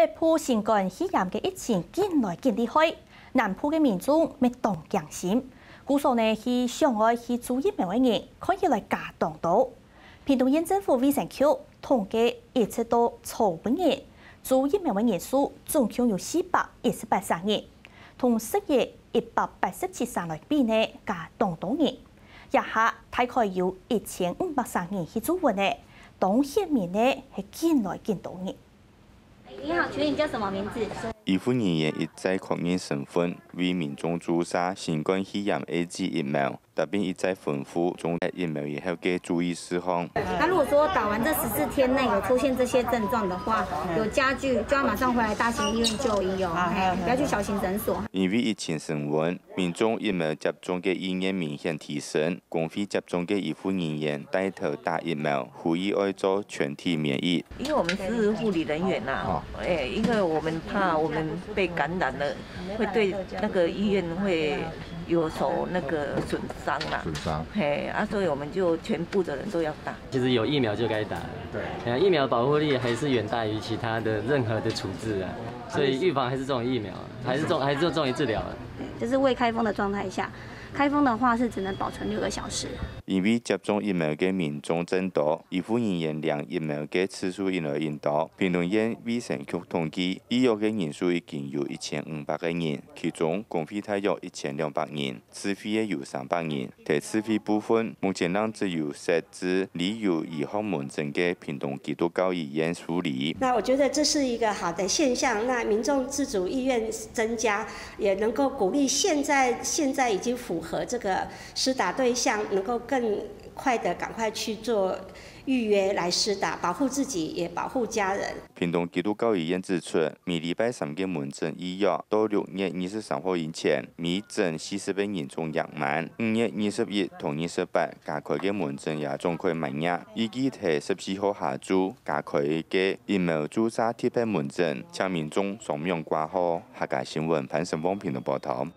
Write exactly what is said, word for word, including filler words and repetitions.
北部新冠肺炎个疫情緊來緊厲害，南部个民眾乜當驚心。故所呢，去想愛去注疫苗个人，看起來加當多。屏東縣政府衛生局統計，一直到昨晡日，注疫苗个人數總共有四百一十八儕人，同十月一百八十七儕來比呢，加當多人。這下大概有一千五百儕人去注射呢，當顯明呢，係緊來緊多人。你好，請問你叫什麼名字？醫護人員一再確認身份，為民眾注射新冠肺炎A Z疫苗，特別一再吩咐注射疫苗以後个注意事項。那如果說打完這十四天內有出現這些症狀的話，有加劇，就要馬上回來大型醫院就醫哦，嘿，不要去小型診所。因為疫情升溫，民眾疫苗接種个意願明顯提升，公費接種个醫護人員帶頭打疫苗，呼籲愛做全體免疫。因為我們是護理人員呐，哎，因為我們怕我們被感染了，會對那個醫院會有所那個損傷啦。損傷。嘿，啊，所以我們就全部的人都要打。其實有疫苗就該打了。對。哎呀，疫苗保護力還是遠大於其他的任何的處置啊，所以預防還是重於疫苗啊，還是重，還是重於治療啊。就是未開封的狀態下，開封的話是只能保存六個小時。因為接種疫苗个民眾增多，醫護人員領疫苗个次數越來越多。屏東縣衛生局統計，預約个人數已經有一千五百個人，其中公費大約一千兩百人，自費个有三百人。在自費部分，目前正只有設置旅遊醫學門診个屏東基督教醫院處理。那我覺得這是一個好的現象，那民眾自主意願增加，也能夠鼓勵現在，現在已經符合這個施打對象，能夠更快地趕快去做預約來施打，保護自己，也保護家人。屏東基督教醫院指出，每禮拜三个門診預約到六月二十三號以前，每診四十個人總額滿。五月二十一同二十八加開个門診也總開滿額，預計在十四號下晝加開个疫苗注射特別門診，請民眾雙向掛號。客家新聞潘成旺屏東報導。